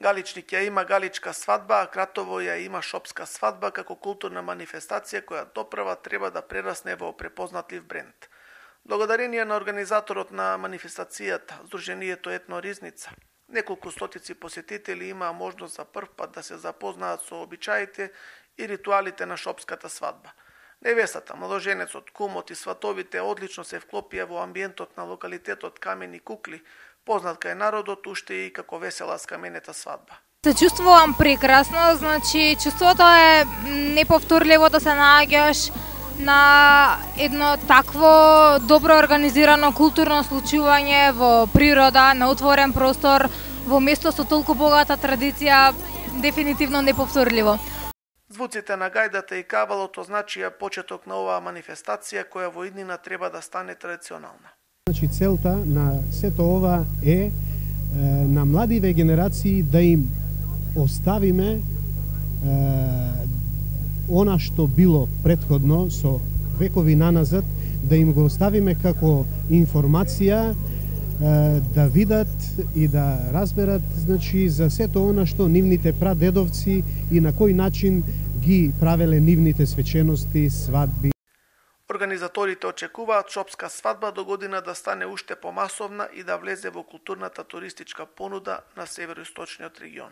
Галичник ја има галичка свадба, а Кратово ја има шопска свадба како културна манифестација која допрва треба да прерасне во препознатлив бренд. Благодарение на организаторот на манифестацијата, Сдруженијето Етно Ризница, неколку стотици посетители имаа можност за прв пат да се запознаат со обичаите и ритуалите на шопската свадба. Невестата, младоженецот, кумот и сватовите одлично се вклопија во амбиентот на локалитетот Камени кукли, познат кај народот уште и како весела скаменета свадба. Се чувствувам прекрасно, значи чувството е неповторливо да се наоѓаш на едно такво добро организирано културно случување во природа, на отворен простор, во место со толку богата традиција, дефинитивно неповторливо. Звуците на гајдата и кавалот означија почеток на оваа манифестација која во иднина треба да стане традиционална. Значи целта на сето ова е на младиве генерации да им оставиме она што било претходно со векови наназад, да им го оставиме како информација, да видат и да разберат, значи, за сето она што нивните прадедовци и на кој начин ги правеле нивните свечености, свадби. Организаторите очекуваат шопска свадба до година да стане уште помасовна и да влезе во културната туристичка понуда на североисточниот регион.